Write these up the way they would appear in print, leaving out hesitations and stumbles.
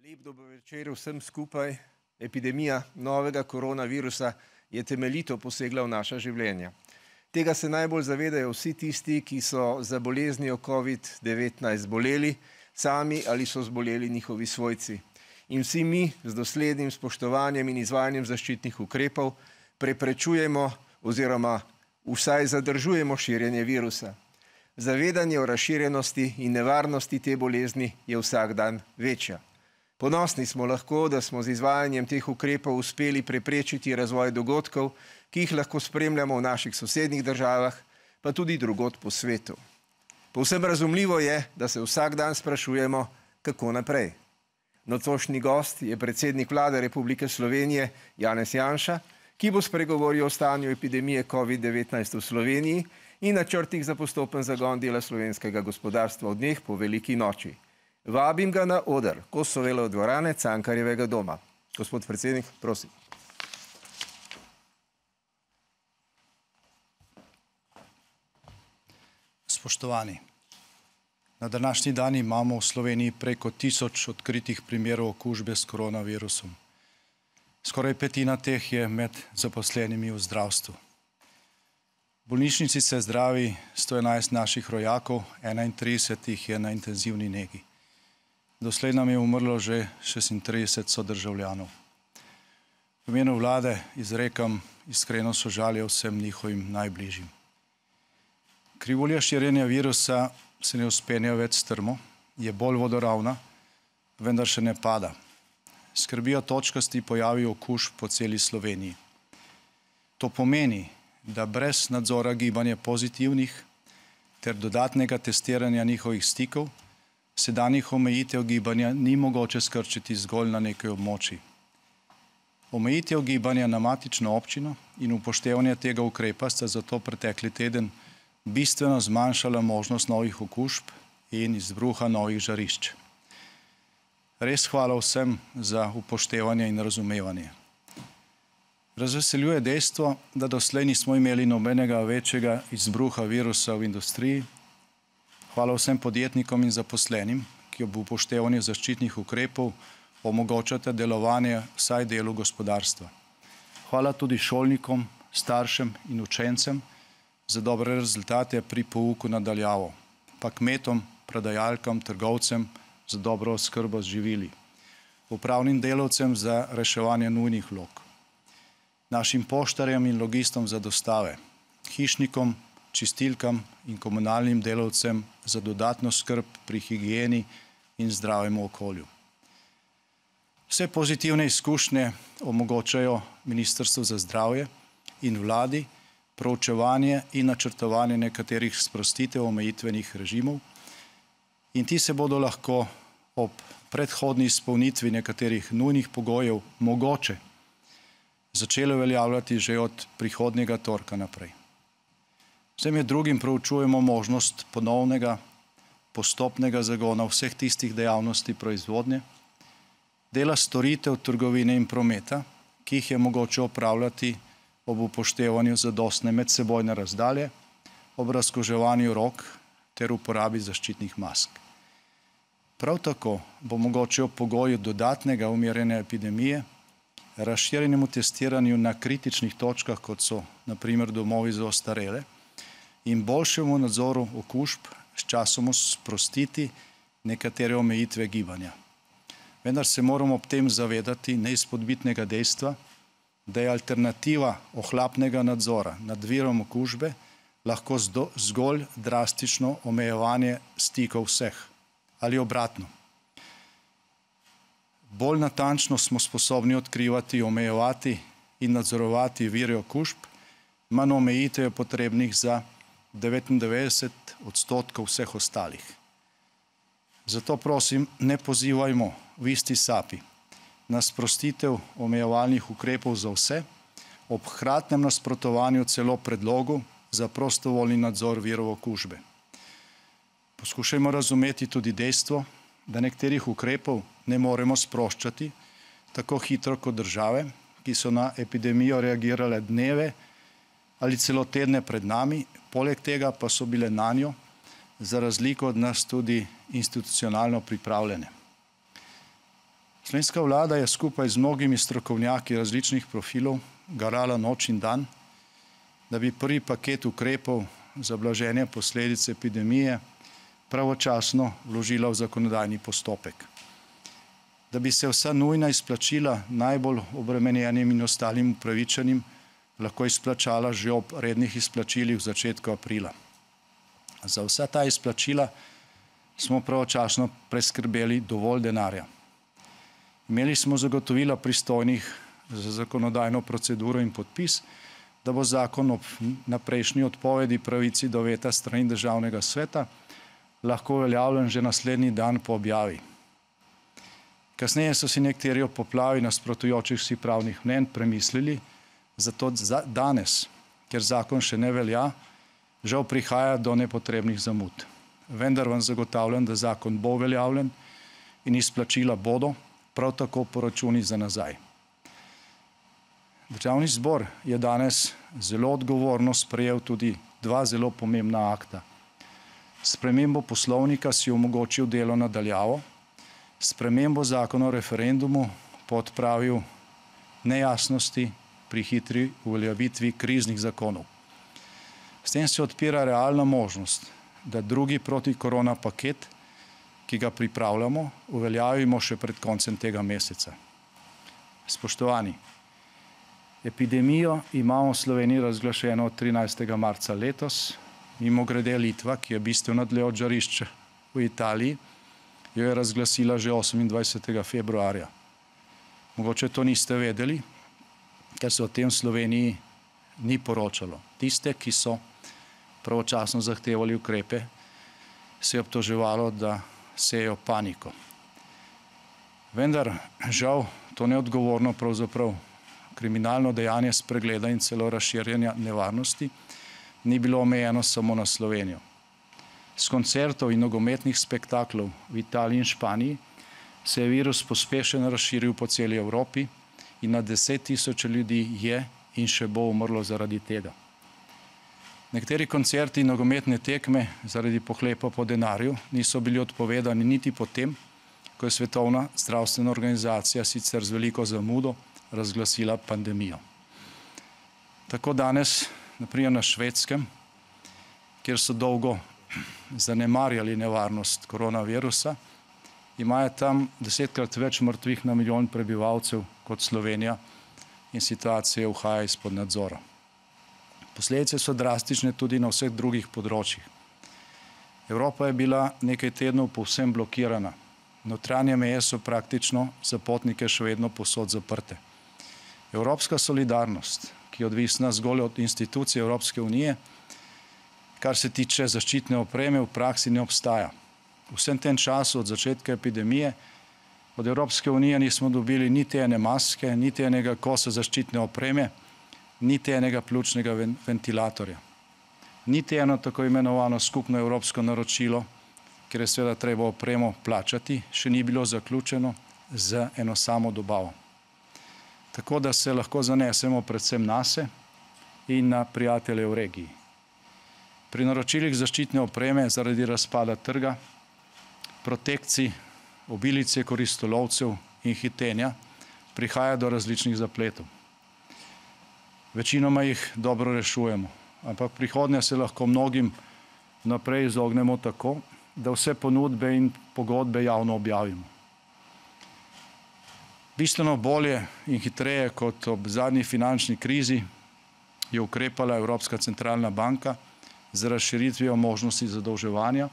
Lep dober večer vsem skupaj. Epidemija novega koronavirusa je temeljito posegla v naša življenja. Tega se najbolj zavedajo vsi tisti, ki so za boleznijo COVID-19 zboleli, sami ali so zboleli njihovi svojci. In vsi mi z doslednim spoštovanjem in izvajanjem zaščitnih ukrepov preprečujemo oziroma vsaj zadržujemo širjenje virusa. Zavedanje o razširjenosti in nevarnosti te bolezni je vsak dan večja. Ponosni smo lahko, da smo z izvajanjem teh ukrepov uspeli preprečiti razvoj dogodkov, ki jih lahko spremljamo v naših sosednjih državah, pa tudi drugod po svetu. Povsem razumljivo je, da se vsak dan sprašujemo, kako naprej. Nocojšnji gost je predsednik Vlade Republike Slovenije Janez Janša, ki bo spregovoril o stanju epidemije COVID-19 v Sloveniji in načrtih za postopen zagon dela slovenskega gospodarstva v dneh po veliki noči. Vabim ga na oder Kosovelove dvorane Cankarjevega doma. Gospod predsednik, prosim. Spoštovani, na današnji dan imamo v Sloveniji preko 1000 odkritih primerov okužbe s koronavirusom. Skoraj petina teh je med zaposlenimi v zdravstvu. V bolnišnici se zdravi 111 naših rojakov, 31 jih je na intenzivni negi. Doslej nam je umrlo že 36 sodržavljanov. V imenu vlade izrekam iskreno sožalje vsem njihovim najbližjim. Krivulja širjenja virusa se ne vzpenja več strmo, je bolj vodoravna, vendar še ne pada. Skrbijo točkasti pojavi okužb po celi Sloveniji. To pomeni, da brez nadzora gibanja pozitivnih ter dodatnega testiranja njihovih stikov sedanjih omejitev gibanja ni mogoče skrčiti zgolj na nekaj območij. Omejitev gibanja na matično občino in upoštevanje tega ukrepa sta zato pretekli teden bistveno zmanjšala možnost novih okužb in izbruha novih žarišč. Res hvala vsem za upoštevanje in razumevanje. Razveseljuje dejstvo, da doslej nismo imeli nobenega večjega izbruha virusa v industriji. Hvala vsem podjetnikom in zaposlenim, ki ob upoštevanju zaščitnih ukrepov omogočate delovanje vsaj delu gospodarstva. Hvala tudi šolnikom, staršem in učencem za dobre rezultate pri pouku na daljavo, pa kmetom, prodajalkam, trgovcem za dobro oskrbo z živili, upravnim delavcem za reševanje nujnih vlog, našim poštarjem in logistom za dostave, hišnikom, čistilkam in komunalnim delavcem za dodatno skrb pri higieni in zdravem okolju. Vse pozitivne izkušnje omogočajo Ministrstvu za zdravje in vladi proučevanje in načrtovanje nekaterih sprostitev omejitvenih režimov in ti se bodo lahko ob predhodni izpolnitvi nekaterih nujnih pogojev mogoče začele uveljavljati že od prihodnjega torka naprej. Vsem drugim proučujemo možnost ponovnega, postopnega zagona vseh tistih dejavnosti proizvodnje, dela storitev, trgovine in prometa, ki jih je mogoče opravljati ob upoštevanju zadostne medsebojne razdalje, ob razkuževanju rok ter uporabi zaščitnih mask. Prav tako bo mogoče ob pogoju dodatnega umirjanja epidemije, razširjenemu testiranju na kritičnih točkah, kot so na primer domovi za ostarele, in boljšemu nadzoru okužb s časom sprostiti nekatere omejitve gibanja. Vendar se moramo ob tem zavedati neizpodbitnega dejstva, da je alternativa ohlapnega nadzora nad virom okužbe lahko zgolj drastično omejevanje stikov vseh ali obratno. Bolj natančno smo sposobni odkrivati, omejevati in nadzorovati vire okužb, manj omejitev je potrebnih za 99% vseh ostalih. Zato prosim, ne pozivajmo v isti sapi na sprostitev omejevalnih ukrepov za vse, ob hkratnem nasprotovanju celo predlogu za prostovoljni nadzor virov okužbe. Poskušajmo razumeti tudi dejstvo, da nekaterih ukrepov ne moremo sproščati tako hitro kot države, ki so na epidemijo reagirale dneve ali celo tedne pred nami, poleg tega pa so bile nanjo za razliko od nas tudi institucionalno pripravljene. Slovenska vlada je skupaj z mnogimi strokovnjaki različnih profilov garala noč in dan, da bi prvi paket ukrepov za blaženje posledic epidemije pravočasno vložila v zakonodajni postopek. Da bi se vsa nujna izplačila najbolj obremenjenim in ostalim upravičenim lahko izplačala že ob rednih izplačilih v začetku aprila. Za vsa ta izplačila smo pravočasno preskrbeli dovolj denarja. Imeli smo zagotovila pristojnih za zakonodajno proceduro in podpis, da bo zakon ob naprejšnji odpovedi pravici do veta strani Državnega sveta lahko uveljavljen že naslednji dan po objavi. Kasneje so si nekateri ob poplavi nasprotujočih si pravnih mnenj premislili, zato danes, ker zakon še ne velja, žal prihaja do nepotrebnih zamud. Vendar vam zagotavljam, da zakon bo uveljavljen in izplačila bodo, prav tako poračuni za nazaj. Državni zbor je danes zelo odgovorno sprejel tudi dva zelo pomembna akta. Spremembo poslovnika si omogočil delo na daljavo, spremembo zakona o referendumu pa odpravil nejasnosti pri hitri uveljavitvi kriznih zakonov. S tem se odpira realna možnost, da drugi protikorona paket, ki ga pripravljamo, uveljavimo še pred koncem tega meseca. Spoštovani, epidemijo imamo v Sloveniji razglašeno od 13. marca letos, mimogrede Litva, ki je bistveno dlje od žarišča v Italiji, jo je razglasila že 28. februarja. Mogoče to niste vedeli, ker se o tem v Sloveniji ni poročalo. Tiste, ki so pravočasno zahtevali ukrepe, se je obtoževalo, da sejejo paniko. Vendar, žal, to neodgovorno pravzaprav kriminalno dejanje spregleda in celo razširjanja nevarnosti ni bilo omejeno samo na Slovenijo. S koncertov in nogometnih spektaklov v Italiji in Španiji se je virus pospešeno razširil po celi Evropi in na 10.000 ljudi je in še bo umrlo zaradi tega. Nekateri koncerti in nogometne tekme zaradi pohlepa po denarju niso bili odpovedani niti potem, ko je Svetovna zdravstvena organizacija sicer z veliko zamudo razglasila pandemijo. Tako danes, naprimer na Švedskem, kjer so dolgo zanemarjali nevarnost koronavirusa, imajo tam 10-krat več mrtvih na milijon prebivalcev kot Slovenija in situacija uhaja izpod nadzora. Posledice so drastične tudi na vseh drugih področjih. Evropa je bila nekaj tednov povsem blokirana. Notranje meje so praktično za potnike še vedno povsod zaprte. Evropska solidarnost, ki je odvisna zgolj od institucij Evropske unije, kar se tiče zaščitne opreme, v praksi ne obstaja. V vsem tem času od začetka epidemije od Evropske unije nismo dobili niti ene maske, niti enega kosa zaščitne opreme, niti enega pljučnega ventilatorja. Niti eno tako imenovano skupno evropsko naročilo, ker je seveda treba opremo plačati, še ni bilo zaključeno z eno samo dobavo. Tako da se lahko zanesemo predvsem nase in na prijatelje v regiji. Pri naročilih zaščitne opreme zaradi razpada trga, protekcij, obilice koristolovcev in hitenja prihaja do različnih zapletov. Večinoma jih dobro rešujemo, ampak prihodnje se lahko mnogim naprej izognemo tako, da vse ponudbe in pogodbe javno objavimo. Bistveno bolje in hitreje kot ob zadnji finančni krizi je ukrepala Evropska centralna banka z razširitvijo možnosti zadolževanja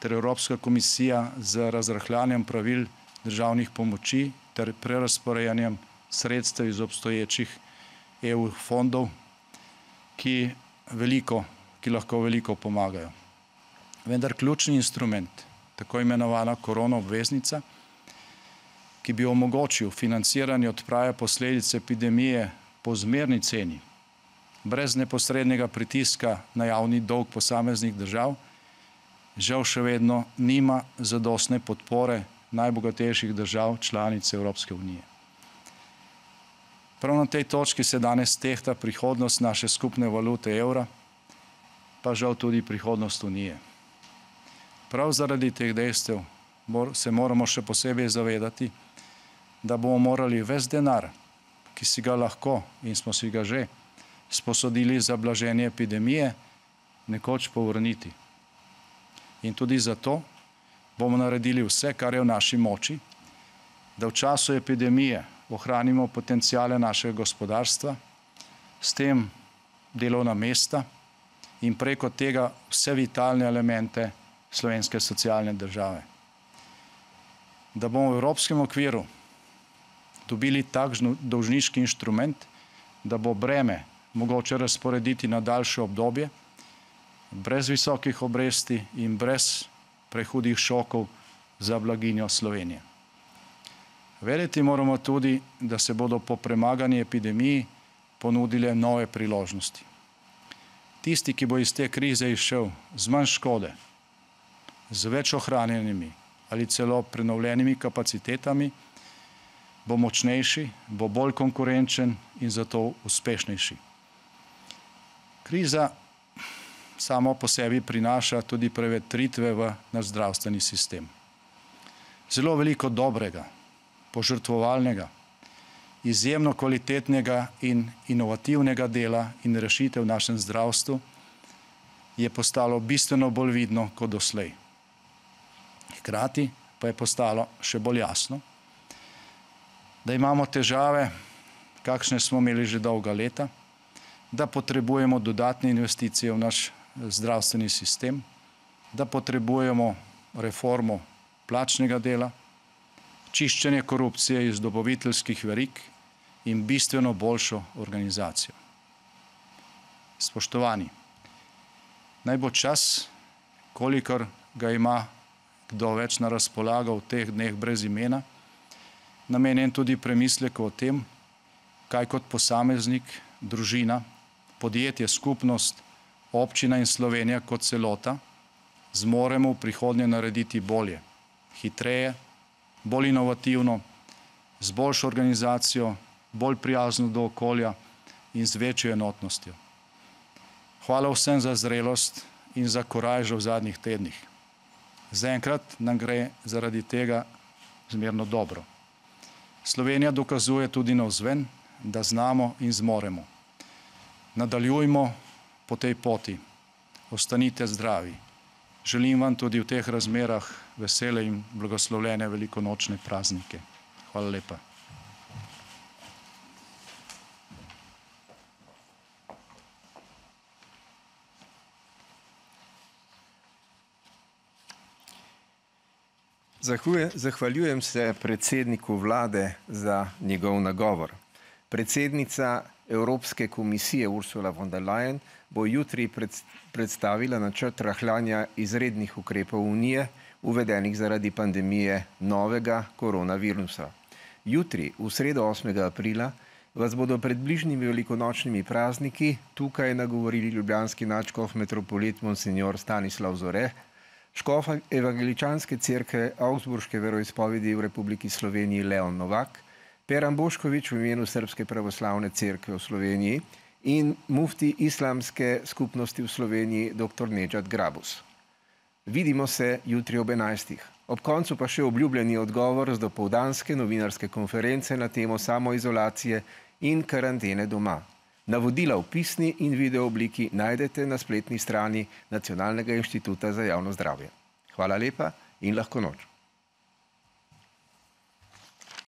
ter Evropska komisija z razrahljanjem pravil državnih pomoči ter prerazporejanjem sredstev iz obstoječih EU fondov, ki lahko veliko pomagajo. Vendar ključni instrument, tako imenovana korona obveznica, ki bi omogočil financiranje odprave posledic epidemije po zmerni ceni, brez neposrednega pritiska na javni dolg posameznih držav, žal še vedno nima zadostne podpore najbogatejših držav članic Evropske unije. Prav na tej točki se danes tehta prihodnost naše skupne valute evra, pa žal tudi prihodnost Unije. Prav zaradi teh dejstev se moramo še posebej zavedati, da bomo morali ves denar, ki si ga lahko in smo si ga že sposodili za blaženje epidemije, nekoč povrniti. In tudi zato bomo naredili vse, kar je v naši moči, da v času epidemije ohranimo potencijale našega gospodarstva, s tem delovna mesta in preko tega vse vitalne elemente slovenske socialne države. Da bomo v evropskem okviru dobili takšen dolžniški inštrument, da bo breme mogoče razporediti na daljše obdobje, brez visokih obresti in brez prehudih šokov za blaginjo Slovenije. Vedeti moramo tudi, da se bodo po premagani epidemiji ponudile nove priložnosti. Tisti, ki bo iz te krize izšel z manj škode, z več ohranjenimi ali celo prenovljenimi kapacitetami, bo močnejši, bo bolj konkurenčen in zato uspešnejši. Kriza samo po sebi prinaša tudi prevetritve v naš zdravstveni sistem. Zelo veliko dobrega, požrtvovalnega, izjemno kvalitetnega in inovativnega dela in rešitev v našem zdravstvu je postalo bistveno bolj vidno kot doslej. Hkrati pa je postalo še bolj jasno, da imamo težave, kakšne smo imeli že dolga leta, da potrebujemo dodatne investicije v naš zdravstveni sistem, da potrebujemo reformo plačnega dela, čiščenje korupcije iz dobaviteljskih verig in bistveno boljšo organizacijo. Spoštovani, naj bo čas, kolikor ga ima kdo več na razpolago v teh dneh brez imena, namenjen tudi premisleku o tem, kaj kot posameznik, družina, podjetje, skupnost, občina in Slovenija kot celota zmoremo v prihodnje narediti bolje, hitreje, bolj inovativno, z boljšo organizacijo, bolj prijazno do okolja in z večjo enotnostjo. Hvala vsem za zrelost in za korajžo v zadnjih tednih. Zaenkrat nam gre zaradi tega zmerno dobro. Slovenija dokazuje tudi navzven, da znamo in zmoremo. Nadaljujmo po tej poti. Ostanite zdravi. Želim vam tudi v teh razmerah vesele in blagoslovljene velikonočne praznike. Hvala lepa. Zahvaljujem se predsedniku vlade za njegov nagovor. Predsednica Evropske komisije Ursula von der Leyen bo jutri predstavila načrt rahljanja izrednih ukrepov Unije, uvedenih zaradi pandemije novega koronavirusa. Jutri, v sredo 8. aprila, vas bodo pred bližnjimi velikonočnimi prazniki tukaj nagovorili ljubljanski nadškof metropolit monsignor Stanislav Zore, škof evangeličanske cerkve Augsburške veroizpovedi v Republiki Sloveniji Leon Novak, Peran Bošković v imenu Srpske pravoslavne cerkve v Sloveniji in mufti islamske skupnosti v Sloveniji dr. Nedžad Grabus. Vidimo se jutri ob 11. Ob koncu pa še obljubljeni odgovor z dopoldanske novinarske konference na temo samoizolacije in karantene doma. Navodila v pisni in video obliki najdete na spletni strani Nacionalnega inštituta za javno zdravje. Hvala lepa in lahko noč.